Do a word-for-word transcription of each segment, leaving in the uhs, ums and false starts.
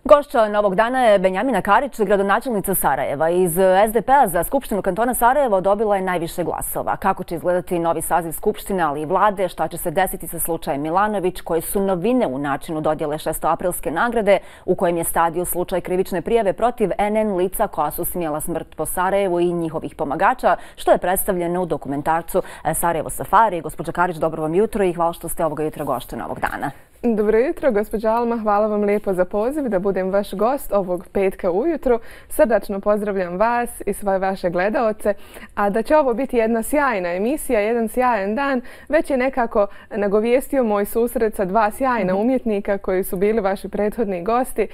Gošća Novog dana je Benjamina Karić, gradonačelnica Sarajeva. Iz S D P-a za Skupštinu kantona Sarajevo dobila je najviše glasova. Kako će izgledati novi saziv Skupštine, ali i vlade, šta će se desiti sa slučajem Milanović, koje su novine u načinu dodjele šestoaprilske nagrade, u kojem je stadio slučaj krivične prijave protiv N N lica koja su smjela smrt po Sarajevu i njihovih pomagača, što je predstavljeno u dokumentarcu Sarajevo Safari. Gospođa Karić, dobro vam jutro i hvala što ste ovoga jutra gošća Novog dana. Dobro jutro, gospođa Alma. Hvala vam lijepo za poziv da budem vaš gost ovog petka ujutru. Srdačno pozdravljam vas i svoje vaše gledaoce. A da će ovo biti jedna sjajna emisija, jedan sjajan dan, već je nekako nagovijestio moj susret sa dva sjajna umjetnika koji su bili vaši prethodni gosti,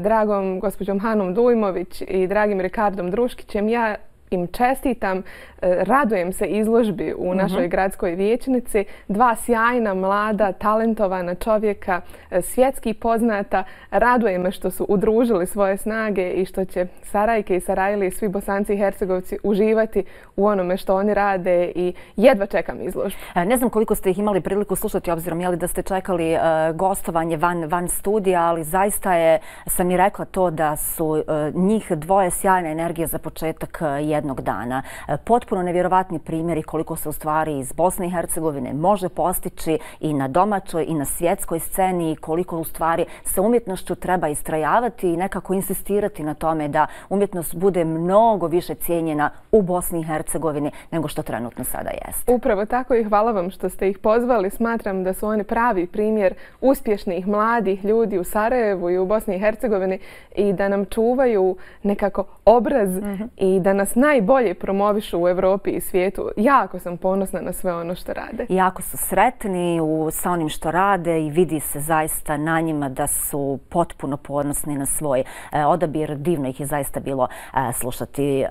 dragom gospođom Hanom Dujmović i dragim Rikardom Druškićem. Ja im čestitam, radujem se izložbi u našoj gradskoj vijećnici. Dva sjajna, mlada, talentovana čovjeka, svjetski poznata. Raduje me što su udružili svoje snage i što će Sarajke i Sarajli i svi Bosanci i Hercegovci uživati u onome što oni rade i jedva čekam izložbu. Ne znam koliko ste ih imali priliku slušati, obzirom jeli da ste čekali gostovanje van, van studija, ali zaista je, sam i rekla to da su njih dvoje sjajna energija za početak jednog dana. Potpuno nevjerovatni primjeri koliko se u stvari iz Bosne i Hercegovine može postići i na domaćoj i na svjetskoj sceni, koliko u stvari sa umjetnošću treba istrajavati i nekako insistirati na tome da umjetnost bude mnogo više cijenjena u Bosni i Hercegovini nego što trenutno sada jeste. Upravo tako i hvala vam što ste ih pozvali. Smatram da su oni pravi primjer uspješnih mladih ljudi u Sarajevu i u Bosni i Hercegovini i da nam čuvaju nekako obraz mm-hmm. i da nas najbolje promovišu u Evropi i svijetu. Jako sam ponosna na sve ono što rade. Jako su sretni u, sa onim što rade i vidi se zaista na njima da su potpuno ponosni na svoj e, odabir. Divno ih je zaista bilo e, slušati. E,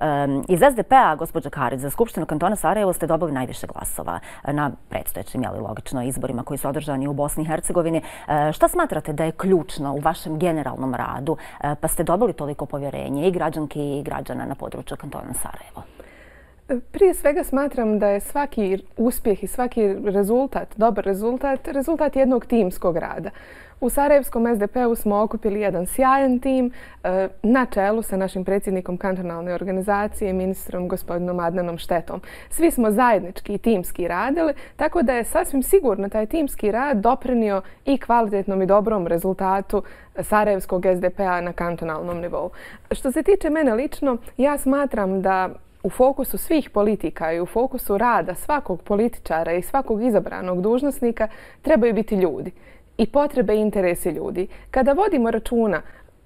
iz S D P-a, gospođa Karić, za Skupštinu kantona Sarajevo ste dobili najviše glasova na predstojećim, jeli logično, izborima koji su održani u Bosni i Hercegovini. E, šta smatrate da je ključno u vašem generalnom radu, e, pa ste dobili toliko povjerenje i građanki i građana na području kantona Sarajevo? Prije svega smatram da je svaki uspjeh i svaki rezultat, dobar rezultat, rezultat jednog timskog rada. U Sarajevskom S D P-u smo okupili jedan sjajan tim na čelu sa našim predsjednikom kantonalne organizacije, ministrom gospodinom Adnanom Štetom. Svi smo zajednički i timski radili, tako da je sasvim sigurno taj timski rad doprinio i kvalitetnom i dobrom rezultatu Sarajevskog S D P-a na kantonalnom nivou. Što se tiče mene lično, ja smatram da u fokusu svih politika i u fokusu rada svakog političara i svakog izabranog dužnosnika trebaju biti ljudi i potrebe i interesi ljudi. Kada vodimo računa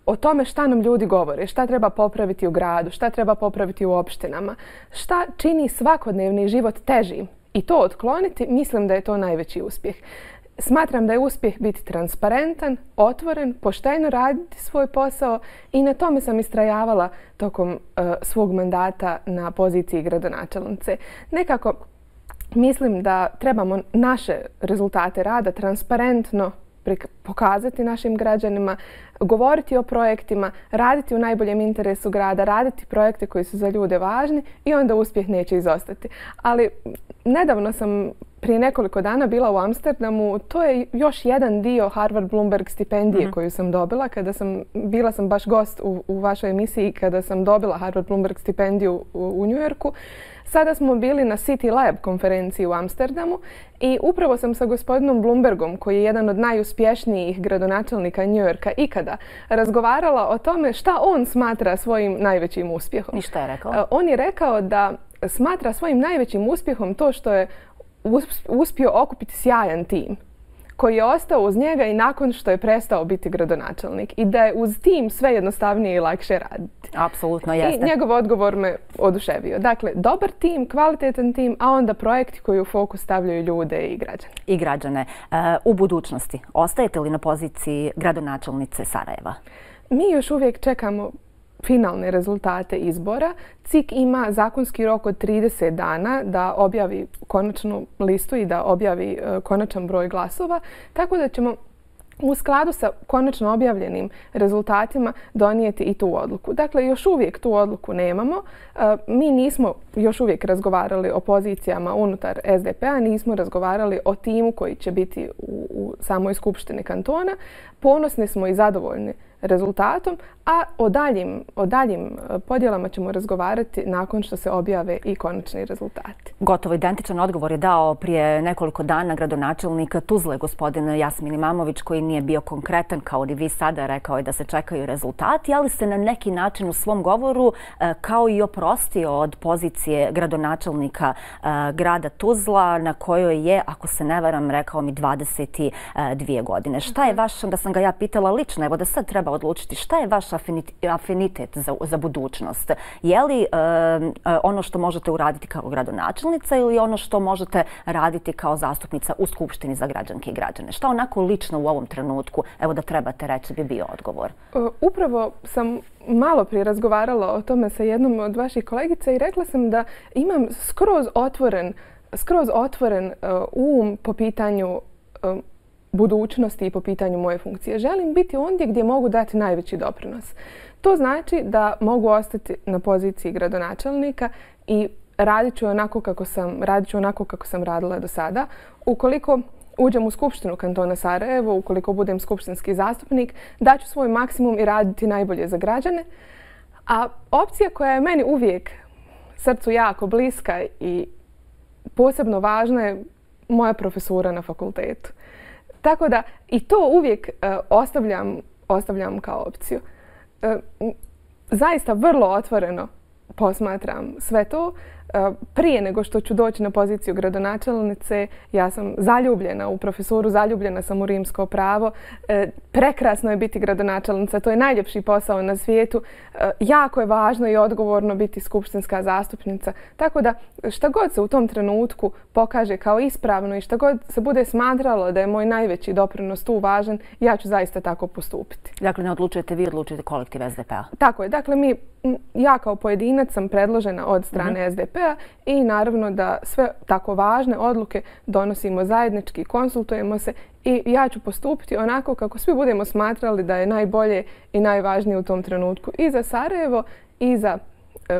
o tome šta nam ljudi govore, šta treba popraviti u gradu, šta treba popraviti u opštinama, šta čini svakodnevni život težim i to otkloniti, mislim da je to najveći uspjeh. Smatram da je uspjeh biti transparentan, otvoren, pošteno raditi svoj posao i na tome sam istrajavala tokom uh, svog mandata na poziciji gradonačelnice. Nekako mislim da trebamo naše rezultate rada transparentno pokazati našim građanima, govoriti o projektima, raditi u najboljem interesu grada, raditi projekte koji su za ljude važni i onda uspjeh neće izostati. Ali nedavno sam prije nekoliko dana bila u Amsterdamu. To je još jedan dio Harvard Bloomberg stipendije mm-hmm. koju sam dobila. Kada sam, bila sam baš gost u, u vašoj emisiji kada sam dobila Harvard Bloomberg stipendiju u, u New Yorku. Sada smo bili na City Lab konferenciji u Amsterdamu i upravo sam sa gospodinom Bloombergom, koji je jedan od najuspješnijih gradonačelnika New Yorka ikada, razgovarala o tome šta on smatra svojim najvećim uspjehom. I šta je rekao? On je rekao da smatra svojim najvećim uspjehom to što je uspio okupiti sjajan tim koji je ostao uz njega i nakon što je prestao biti gradonačelnik i da je uz tim sve jednostavnije i lakše raditi. Apsolutno jeste. I njegov odgovor me oduševio. Dakle, dobar tim, kvalitetan tim, a onda projekti koji u fokus stavljaju ljude i građane. I građane. Uh, u budućnosti ostajete li na poziciji gradonačelnice Sarajeva? Mi još uvijek čekamo finalne rezultate izbora. C I K ima zakonski rok od trideset dana da objavi konačnu listu i da objavi uh, konačan broj glasova, tako da ćemo u skladu sa konačno objavljenim rezultatima donijeti i tu odluku. Dakle, još uvijek tu odluku nemamo. Uh, mi nismo još uvijek razgovarali o pozicijama unutar S D P-a, nismo razgovarali o timu koji će biti u, u samoj skupštini kantona. Ponosni smo i zadovoljni rezultatom, a o daljim, o daljim podjelama ćemo razgovarati nakon što se objave i konačni rezultati. Gotovo identičan odgovor je dao prije nekoliko dana gradonačelnik Tuzle, gospodin Jasmin Imamović, koji nije bio konkretan kao ni vi sada, rekao je da se čekaju rezultati, ali se na neki način u svom govoru kao i oprostio od pozicije gradonačelnika grada Tuzla, na kojoj je, ako se ne varam, rekao mi dvadeset dvije godine. Šta je vaš, da sam ga ja pitala lično, evo da sad treba odlučiti, šta je vaš afinitet za, za budućnost? Je li uh, ono što možete uraditi kao gradonačelnica ili ono što možete raditi kao zastupnica u Skupštini za građanke i građane? Šta onako lično u ovom trenutku, evo da trebate reći, bi bio odgovor? Uh, upravo sam malo prije razgovarala o tome sa jednom od vaših kolegica i rekla sam da imam skroz otvoren, skroz otvoren uh, um po pitanju uh, budućnosti i po pitanju moje funkcije. Želim biti ondje gdje mogu dati najveći doprinos. To znači da mogu ostati na poziciji gradonačelnika i radit ću onako kako sam, radit ću onako kako sam radila do sada. Ukoliko uđem u Skupštinu kantona Sarajevo, ukoliko budem skupštinski zastupnik, daću svoj maksimum i raditi najbolje za građane. A opcija koja je meni uvijek srcu jako bliska i posebno važna je moja profesura na fakultetu. Tako da i to uvijek uh, ostavljam, ostavljam kao opciju. Uh, zaista vrlo otvoreno posmatram sve to. Uh, prije nego što ću doći na poziciju gradonačelnice, ja sam zaljubljena u profesoru, zaljubljena sam u rimsko pravo. Uh, prekrasno je biti gradonačelnica, to je najljepši posao na svijetu. Uh, jako je važno i odgovorno biti skupštinska zastupnica. Tako da šta god se u tom trenutku pokaže kao ispravno i šta god se bude smatralo da je moj najveći doprinos tu važan, ja ću zaista tako postupiti. Dakle, ne odlučujete vi, odlučujete kolektiv S D P-a? Tako je. Dakle, mi, ja kao pojedinac sam predložena od strane mm-hmm. S D P-a i naravno da sve tako važne odluke donosimo zajednički, konsultujemo se i ja ću postupiti onako kako svi budemo smatrali da je najbolje i najvažnije u tom trenutku i za Sarajevo i za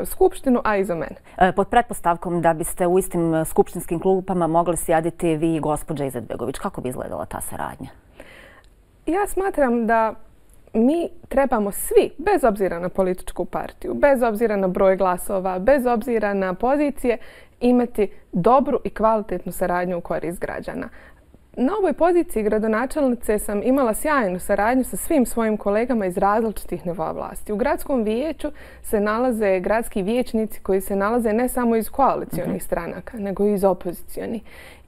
Skupštinu, a i za mene. Pod pretpostavkom da biste u istim skupštinskim klupama mogli sjediti vi i gospođa Izetbegović, kako bi izgledala ta saradnja? Ja smatram da mi trebamo svi, bez obzira na političku partiju, bez obzira na broj glasova, bez obzira na pozicije, imati dobru i kvalitetnu saradnju u korist građana. Na ovoj poziciji gradonačelnice sam imala sjajnu saradnju sa svim svojim kolegama iz različitih nivoa vlasti. U gradskom vijeću se nalaze gradski vijećnici koji se nalaze ne samo iz koalicionih mm-hmm. stranaka, nego i iz opozicionih.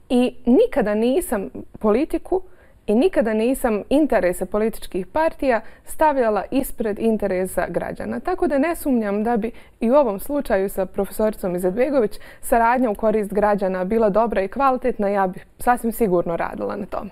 I nikada nisam politiku i nikada nisam interese političkih partija stavljala ispred interesa građana. Tako da ne sumnjam da bi i u ovom slučaju sa profesoricom Izetbegović saradnja u korist građana bila dobra i kvalitetna. Ja bih sasvim sigurno radila na tome.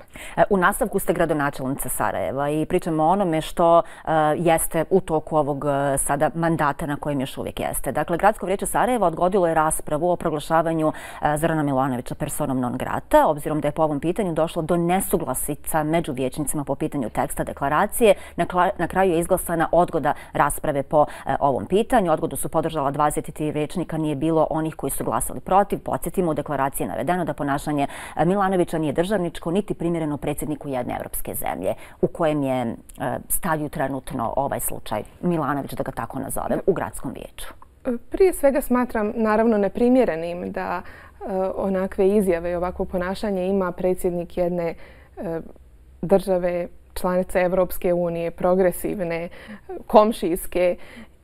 U nastavku ste gradonačelnica Sarajeva i pričamo o onome što uh, jeste u toku ovog uh, sada mandata na kojem još uvijek jeste. Dakle, Gradsko vijeće Sarajeva odgodilo je raspravu o proglašavanju uh, Zorana Milanovića personom non grata, obzirom da je po ovom pitanju došlo do nesuglasica među vijećnicima po pitanju teksta deklaracije. Na, na kraju je izglasana odgoda rasprave po e, ovom pitanju. Odgodu su podržala dvadeset tri vijećnika, nije bilo onih koji su glasali protiv. Podsjetimo, u deklaraciji je navedeno da ponašanje Milanovića nije državničko niti primjereno predsjedniku jedne evropske zemlje, u kojem je e, stavlju trenutno ovaj slučaj Milanović, da ga tako nazovem, u gradskom vijeću. Prije svega smatram naravno neprimjerenim da e, onakve izjave i ovakvo ponašanje ima predsjednik jedne e, države, članice Evropske unije, progresivne, komšijske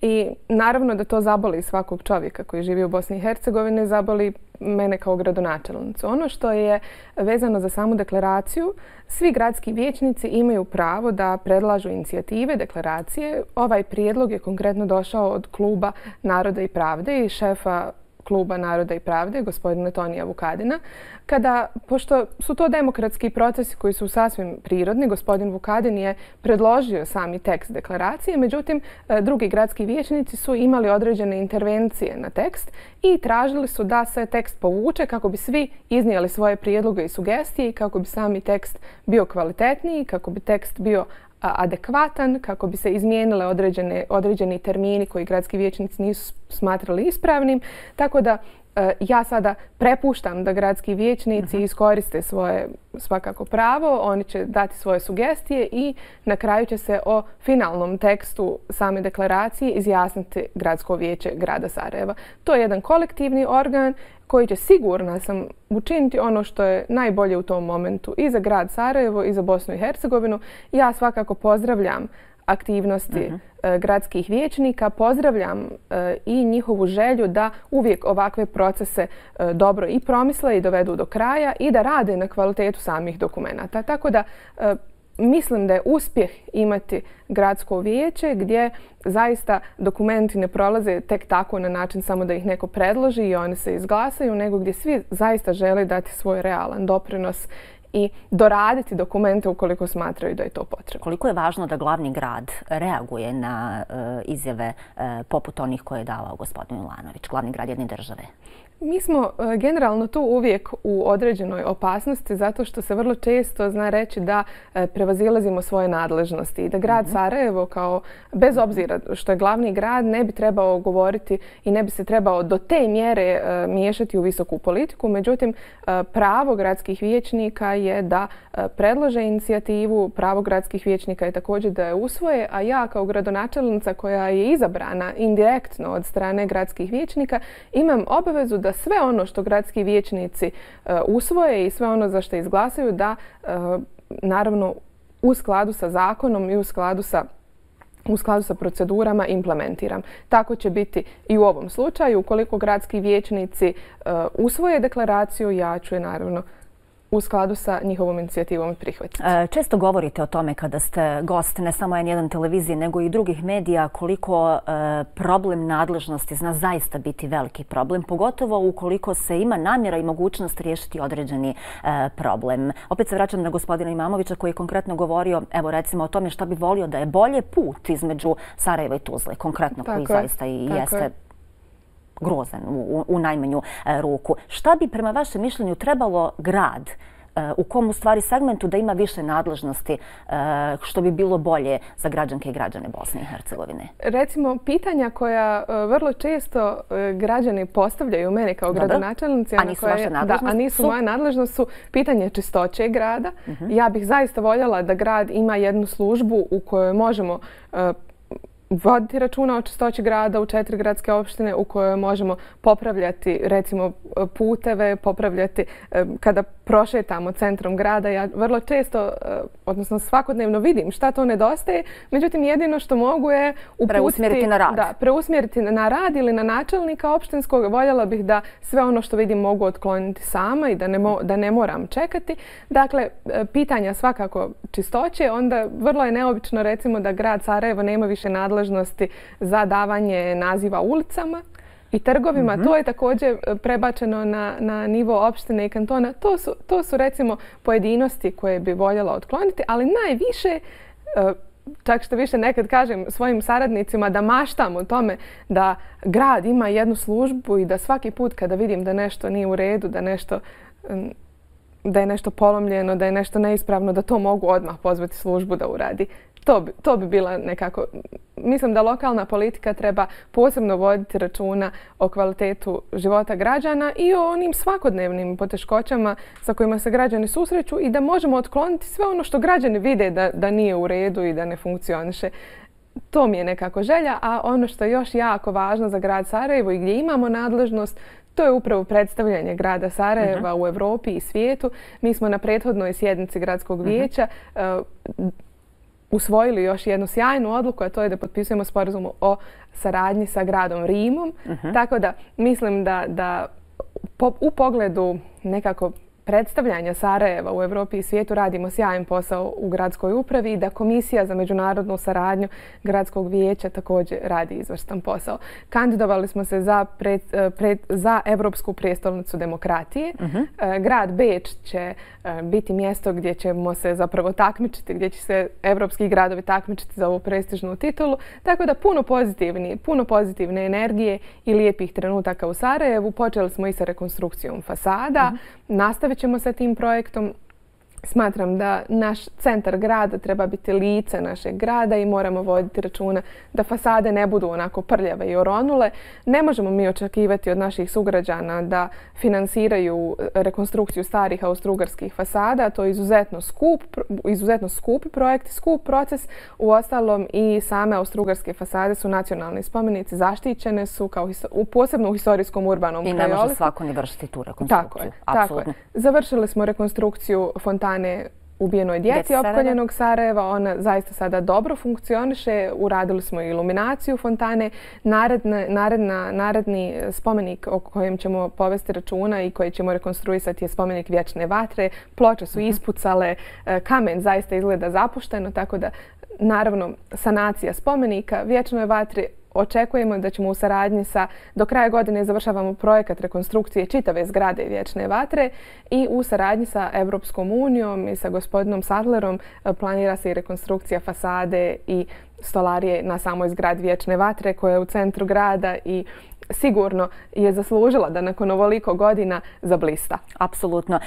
i naravno da to zaboli svakog čovjeka koji živi u Bosni i Hercegovini, zaboli mene kao gradonačelnicu. Ono što je vezano za samu deklaraciju, svi gradski vijećnici imaju pravo da predlažu inicijative, deklaracije. Ovaj prijedlog je konkretno došao od kluba Naroda i pravde i šefa kluba Naroda i pravde, gospodina Tonija Vukadina, kada, pošto su to demokratski procesi koji su sasvim prirodni, gospodin Vukadin je predložio sami tekst deklaracije, međutim, drugi gradski vijećnici su imali određene intervencije na tekst i tražili su da se tekst povuče kako bi svi iznijeli svoje prijedloge i sugestije i kako bi sami tekst bio kvalitetniji, kako bi tekst bio adekvatan, kako bi se izmijenile određene, određeni termini koji gradski vijećnici nisu smatrali ispravnim. Tako da Ja sada prepuštam da gradski vijećnici uh-huh. iskoriste svoje svakako pravo, oni će dati svoje sugestije i na kraju će se o finalnom tekstu same deklaracije izjasniti Gradsko vijeće grada Sarajeva. To je jedan kolektivni organ koji će, sigurna sam, učiniti ono što je najbolje u tom momentu i za grad Sarajevo i za Bosnu i Hercegovinu. Ja svakako pozdravljam aktivnosti uh-huh. gradskih vijećnika, pozdravljam uh, i njihovu želju da uvijek ovakve procese uh, dobro i promisle i dovedu do kraja i da rade na kvalitetu samih dokumenata. Tako da uh, mislim da je uspjeh imati gradsko vijeće gdje zaista dokumenti ne prolaze tek tako na način samo da ih neko predloži i oni se izglasaju, nego gdje svi zaista žele dati svoj realan doprinos i doraditi dokumente ukoliko smatraju da je to potrebno. Koliko je važno da glavni grad reaguje na uh, izjave uh, poput onih koje je davao gospodin Milanović, glavni grad jedne države? Mi smo uh, generalno tu uvijek u određenoj opasnosti zato što se vrlo često zna reći da uh, prevazilazimo svoje nadležnosti i da grad mm-hmm. Sarajevo, kao bez obzira što je glavni grad, ne bi trebao govoriti i ne bi se trebao do te mjere uh, miješati u visoku politiku. Međutim, uh, pravo gradskih vijećnika je da uh, predlože inicijativu, pravo gradskih vijećnika je također da je usvoje, a ja kao gradonačelnica koja je izabrana indirektno od strane gradskih vijećnika imam obavezu da sve ono što gradski vijećnici uh, usvoje i sve ono za što izglasaju da uh, naravno u skladu sa zakonom i u skladu sa u skladu sa procedurama implementiram. Tako će biti i u ovom slučaju. Ukoliko gradski vijećnici uh, usvoje deklaraciju, ja ću je naravno u skladu sa njihovom inicijativom prihvatiti. Često govorite o tome kada ste gost ne samo en jedan televizije nego i drugih medija koliko problem nadležnosti zna zaista biti veliki problem, pogotovo ukoliko se ima namjera i mogućnost riješiti određeni problem. Opet se vraćam na gospodina Imamovića koji je konkretno govorio, evo recimo o tome šta bi volio da je bolje put između Sarajeva i Tuzle, konkretno koji zaista i jeste grozan u, u najmanju e, ruku. Šta bi prema vašem mišljenju trebalo grad e, u kom u stvari segmentu da ima više nadležnosti e, što bi bilo bolje za građanke i građane Bosne i Hercegovine? Recimo, pitanja koja e, vrlo često e, građani postavljaju mene kao gradonačelnici, a nisu vaše nadležnosti, da, a nisu moje nadležnost, su pitanje čistoće grada. Uh-huh. Ja bih zaista voljela da grad ima jednu službu u kojoj možemo e, voditi računa o čistoći grada u četiri gradske opštine u kojoj možemo popravljati recimo puteve, popravljati kada prošetamo centrom grada. Ja vrlo često, odnosno svakodnevno vidim šta to nedostaje, međutim jedino što mogu je uputiti, preusmjeriti na rad. Da, preusmjeriti na rad ili na načelnika opštinskog. Voljela bih da sve ono što vidim mogu otkloniti sama i da ne, mo, da ne moram čekati. Dakle, pitanja svakako čistoće, onda vrlo je neobično recimo da grad Sarajevo nema više nadležnosti za davanje naziva ulicama i trgovima. Mm-hmm. To je također prebačeno na, na nivo opštine i kantona. To su, to su recimo pojedinosti koje bi voljela otkloniti, ali najviše, čak što više nekad kažem svojim saradnicima da maštam o tome da grad ima jednu službu i da svaki put kada vidim da nešto nije u redu, da nešto da je nešto polomljeno, da je nešto neispravno, da to mogu odmah pozvati službu da uradi. To bi, to bi bila nekako... Mislim da lokalna politika treba posebno voditi računa o kvalitetu života građana i o onim svakodnevnim poteškoćama sa kojima se građani susreću i da možemo otkloniti sve ono što građani vide da, da nije u redu i da ne funkcioniše. To mi je nekako želja, a ono što je još jako važno za grad Sarajevo i gdje imamo nadležnost, to je upravo predstavljanje grada Sarajeva uh-huh. u Evropi i svijetu. Mi smo na prethodnoj sjednici gradskog vijeća uh-huh. uh, usvojili još jednu sjajnu odluku, a to je da potpisujemo sporazum o saradnji sa gradom Rimom. Uh-huh. Tako da mislim da, da po, u pogledu nekako predstavljanja Sarajeva u Evropi i svijetu radimo sjajan posao u gradskoj upravi i da Komisija za međunarodnu saradnju gradskog vijeća također radi izvrstan posao. Kandidovali smo se za, pred, pred, za Evropsku prijestolnicu demokratije. Uh-huh. Grad Beč će biti mjesto gdje ćemo se zapravo takmičiti, gdje će se evropski gradovi takmičiti za ovu prestižnu titulu. Tako da puno pozitivni, puno pozitivne energije i lijepih trenutaka u Sarajevu. Počeli smo i sa rekonstrukcijom fasada. Uh-huh. Nastavit ćemo sa tim projektom. Smatram da naš centar grada treba biti lice našeg grada i moramo voditi računa da fasade ne budu onako prljave i oronule. Ne možemo mi očekivati od naših sugrađana da finansiraju rekonstrukciju starih austrougarskih fasada. To je izuzetno skup, izuzetno skupi projekt, skup proces. Uostalom i same austrougarske fasade su nacionalni spomenici, zaštićene su kao posebno u historijskom urbanom krajoliku. I ne može svako ni vršiti tu rekonstrukciju. Tako je, tako je. Završili smo rekonstrukciju fontane ubijenoj djeci opkoljenog Sarajeva. Ona zaista sada dobro funkcioniše. Uradili smo iluminaciju fontane. Naredna, naredna, naredni spomenik o kojem ćemo povesti računa i koji ćemo rekonstruisati je spomenik Vječne vatre. Ploče su ispucale, kamen zaista izgleda zapušteno, tako da naravno sanacija spomenika Vječnoj vatri. Očekujemo da ćemo u saradnji sa, do kraja godine završavamo projekat rekonstrukcije čitave zgrade Vječne vatre i u saradnji sa Europskom unijom i sa gospodinom Sadlerom planira se i rekonstrukcija fasade i stolarije na samoj zgradi Vječne vatre koja je u centru grada i sigurno je zaslužila da nakon ovoliko godina zablista. Apsolutno.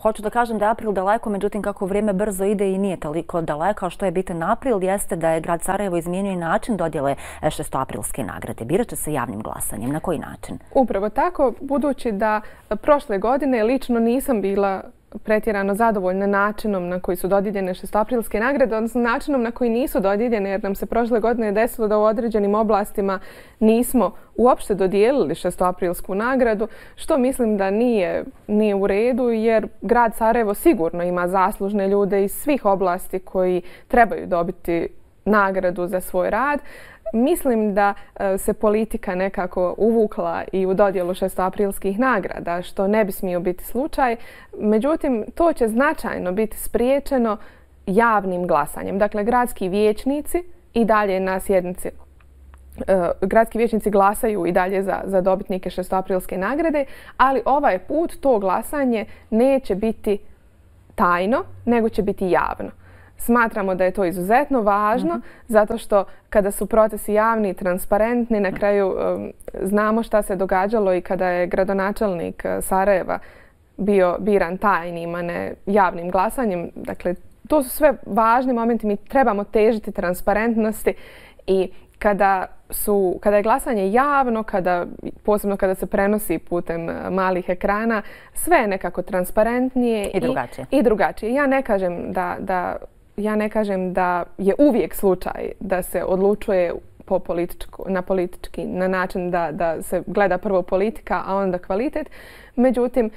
Hoću da kažem da je april daleko, međutim kako vrijeme brzo ide i nije toliko daleko, a što je bitan april jeste da je grad Sarajevo izmijenio i način dodjele šestoaprilske nagrade. Birat će se javnim glasanjem. Na koji način? Upravo tako, budući da prošle godine lično nisam bila pretjerano zadovoljna načinom na koji su dodijeljene šestoaprilske nagrade, odnosno načinom na koji nisu dodijeljene, jer nam se prošle godine desilo da u određenim oblastima nismo uopšte dodijelili šestoaprilsku nagradu, što mislim da nije, nije u redu, jer grad Sarajevo sigurno ima zaslužne ljude iz svih oblasti koji trebaju dobiti nagradu za svoj rad. Mislim da se politika nekako uvukla i u dodjelu šestoaprilskih nagrada, što ne bi smio biti slučaj. Međutim, to će značajno biti spriječeno javnim glasanjem. Dakle, gradski vijećnici i dalje na sjednici gradski vijećnici glasaju i dalje za, za dobitnike šestoaprilske nagrade, ali ovaj put to glasanje neće biti tajno, nego će biti javno. Smatramo da je to izuzetno važno, mm-hmm. zato što kada su procesi javni i transparentni, na kraju um, znamo šta se događalo i kada je gradonačelnik Sarajeva bio biran tajnim, a ne javnim glasanjem. Dakle, to su sve važni momenti. Mi trebamo težiti transparentnosti i kada, su, kada je glasanje javno, kada, posebno kada se prenosi putem malih ekrana, sve je nekako transparentnije i drugačije. I, i drugačije. Ja ne kažem da, da Ja ne kažem da je uvijek slučaj da se odlučuje po političku, na politički, na način da, da se gleda prvo politika, a onda kvalitet. Međutim,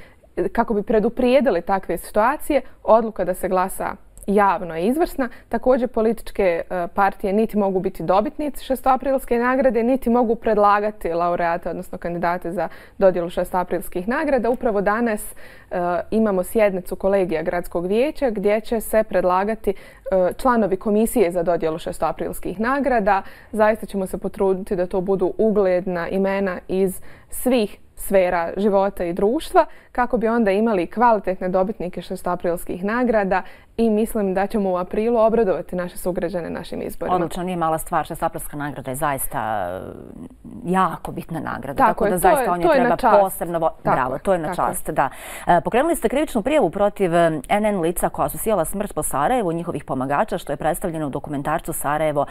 kako bi preduprijedili takve situacije, odluka da se glasa javno je izvrsna. Također političke partije niti mogu biti dobitnici šestoaprilske nagrade, niti mogu predlagati laureate, odnosno kandidate za dodjelu šestoaprilskih nagrada. Upravo danas uh, imamo sjednicu kolegija gradskog vijeća gdje će se predlagati uh, članovi komisije za dodjelu šestoaprilskih nagrada. Zaista ćemo se potruditi da to budu ugledna imena iz svih sfera života i društva, kako bi onda imali kvalitetne dobitnike šestoaprilskih nagrada i mislim da ćemo u aprilu obradovati naše sugrađane našim izborima. Odlično, nije mala stvar. Šestoaprilska nagrada je zaista jako bitna nagrada. Tako, tako je, da zaista je, on je treba posebno... Tako, Bravo, to je na čast, da. Pokrenuli ste krivičnu prijavu protiv en en lica koja su sijala smrt po Sarajevu, njihovih pomagača, što je predstavljeno u dokumentarcu Sarajevo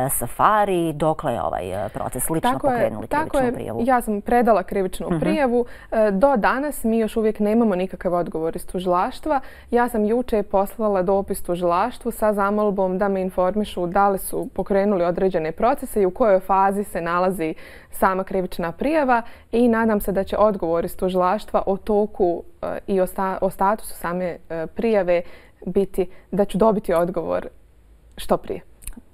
Safari. Dokle je ovaj proces? Lično tako pokrenuli je, krivičnu tako prijavu? Je. Ja sam predala krivičnu uh-huh. prijavu. Do danas mi još uvijek nemamo nikakav odgovor iz tužilaštva. Ja sam juče poslala dopis tužilaštvu sa zamolbom da me informišu da li su pokrenuli određene procese i u kojoj fazi se nalazi sama krivična prijava i nadam se da će odgovor iz tužilaštva o toku i o, sta, o statusu same prijave biti da ću dobiti odgovor što prije.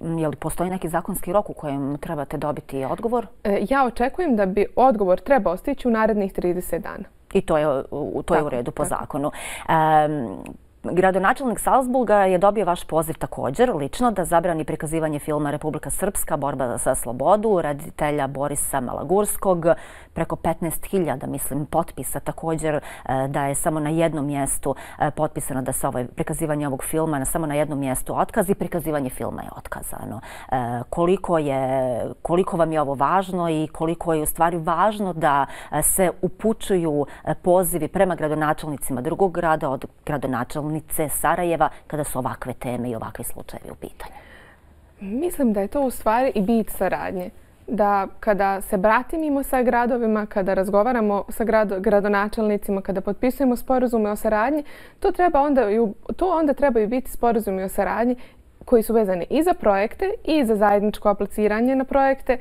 Je li postoji neki zakonski rok u kojem trebate dobiti odgovor? Ja očekujem da bi odgovor trebao stići u narednih trideset dana. I to je, to je u redu po zakonu. Um, Gradonačelnik Salzburga je dobio vaš poziv također, lično, da zabrani prikazivanje filma Republika Srpska, borba za slobodu, reditelja Borisa Malagurskog, preko petnaest hiljada, mislim, potpisa također, da je samo na jednom mjestu potpisano da se ovaj, prikazivanje ovog filma na samo na jednom mjestu otkaz i prikazivanje filma je otkazano. Koliko je, koliko vam je ovo važno i koliko je u stvari važno da se upućuju pozivi prema gradonačelnicima drugog grada od gradonačelnice Sarajeva kada su ovakve teme i ovakvi slučajevi u pitanju? Mislim da je to u stvari i bit saradnje. Da kada se bratimimo sa gradovima, kada razgovaramo sa gradonačelnicima, kada potpisujemo sporazume o saradnji, to, treba onda, to onda trebaju biti sporazumi o saradnji koji su vezani i za projekte i za zajedničko apliciranje na projekte.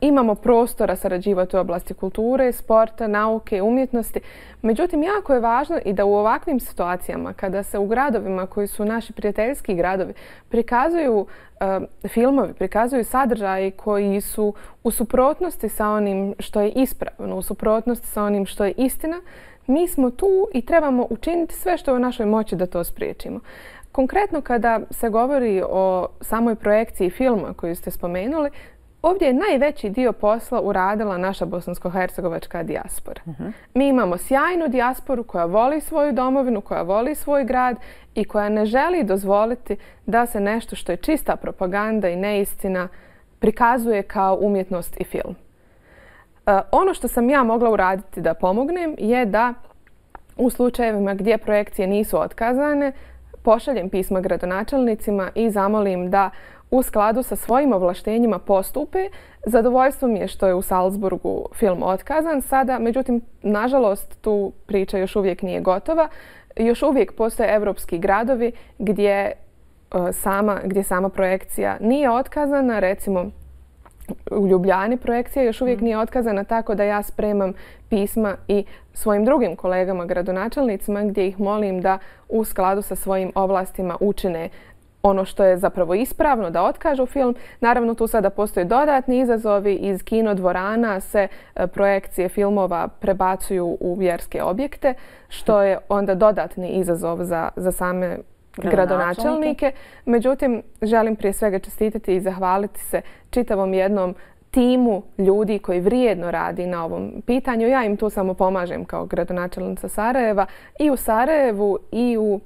Imamo prostora sarađivati u oblasti kulture, sporta, nauke, umjetnosti. Međutim, jako je važno i da u ovakvim situacijama, kada se u gradovima koji su naši prijateljski gradovi prikazuju uh, filmovi, prikazuju sadržaji koji su u suprotnosti sa onim što je ispravno, u suprotnosti sa onim što je istina, mi smo tu i trebamo učiniti sve što je u našoj moći da to spriječimo. Konkretno kada se govori o samoj projekciji filma koju ste spomenuli, ovdje je najveći dio posla uradila naša bosansko-hercegovačka dijaspora. Uh-huh. Mi imamo sjajnu dijasporu koja voli svoju domovinu, koja voli svoj grad i koja ne želi dozvoliti da se nešto što je čista propaganda i neistina prikazuje kao umjetnost i film. Uh, ono što sam ja mogla uraditi da pomognem je da u slučajevima gdje projekcije nisu otkazane, pošaljem pisma gradonačelnicima i zamolim da u skladu sa svojim ovlaštenjima postupe. Zadovoljstvo mi je što je u Salzburgu film otkazan sada, međutim, nažalost, tu priča još uvijek nije gotova. Još uvijek postoje evropski gradovi gdje, uh, sama, gdje sama projekcija nije otkazana. Recimo, u Ljubljani projekcija još uvijek nije otkazana, tako da ja spremam pisma i svojim drugim kolegama gradonačelnicima gdje ih molim da u skladu sa svojim ovlastima učine ono što je zapravo ispravno, da otkažu film. Naravno, tu sada postoje dodatni izazovi. Iz kinodvorana se projekcije filmova prebacuju u vjerske objekte, što je onda dodatni izazov za, za same gradonačelnike. Međutim, želim prije svega čestitati i zahvaliti se čitavom jednom timu ljudi koji vrijedno radi na ovom pitanju. Ja im tu samo pomažem kao gradonačelnica Sarajeva. I u Sarajevu i u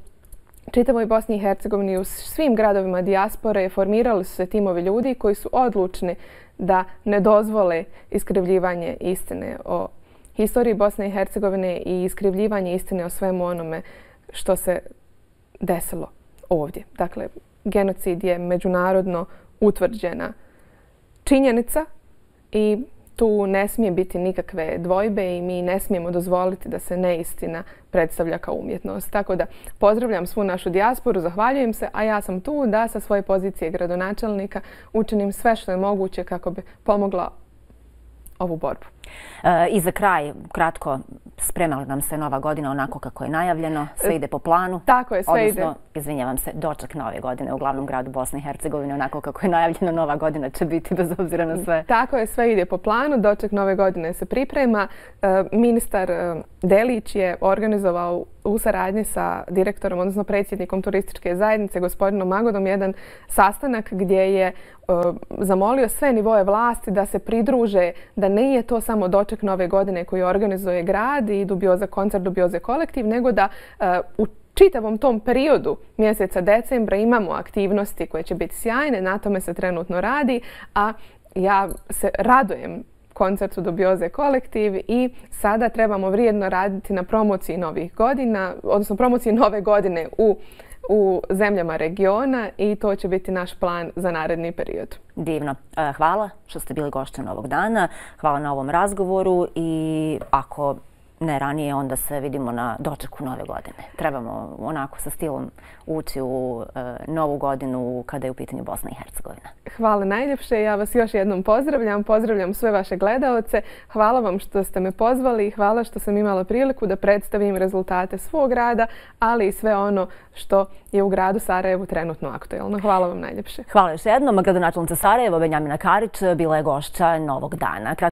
čitavoj Bosni i Hercegovini, u svim gradovima dijaspore formirali su se timovi ljudi koji su odlučni da ne dozvole iskrivljivanje istine o historiji Bosne i Hercegovine i iskrivljivanje istine o svemu onome što se desilo ovdje. Dakle, genocid je međunarodno utvrđena činjenica i tu ne smije biti nikakve dvojbe i mi ne smijemo dozvoliti da se neistina predstavlja kao umjetnost. Tako da pozdravljam svu našu dijasporu, zahvaljujem se, a ja sam tu da sa svoje pozicije gradonačelnika učinim sve što je moguće kako bi pomogla ovu borbu. E, I za kraj, kratko, sprema li nam se nova godina onako kako je najavljeno? Sve ide po planu? Tako je, sve odnosno, ide. Odnosno, izvinjavam se, doček nove godine u glavnom gradu Bosne i Hercegovine, onako kako je najavljeno, nova godina će biti bez obzira na sve. Tako je, sve ide po planu, doček nove godine se priprema. E, ministar e, Delić je organizovao u saradnji sa direktorom, odnosno predsjednikom turističke zajednice, gospodinom Magodom, jedan sastanak gdje je zamolio sve nivoje vlasti da se pridruže, da nije to samo doček nove godine koji organizuje grad i Dubioza koncert, Dubioze kolektiv, nego da u čitavom tom periodu mjeseca decembra imamo aktivnosti koje će biti sjajne, na tome se trenutno radi, a ja se radujem koncertu Dubioze kolektiv i sada trebamo vrijedno raditi na promociji novih godina, odnosno promociji nove godine u u zemljama regiona i to će biti naš plan za naredni period. Divno. Hvala što ste bili gošćom ovog dana. Hvala na ovom razgovoru i ako ne ranije, onda se vidimo na dočeku nove godine. Trebamo onako sa stilom ući u e, novu godinu kada je u pitanju Bosna i Hercegovina. Hvala najljepše. Ja vas još jednom pozdravljam. Pozdravljam sve vaše gledaoce. Hvala vam što ste me pozvali i hvala što sam imala priliku da predstavim rezultate svog rada, ali i sve ono što je u gradu Sarajevu trenutno aktuelno. Hvala vam najljepše. Hvala još jednom. Gradonačelnica Sarajeva, Benjamina Karić, bila je gošća Novog dana.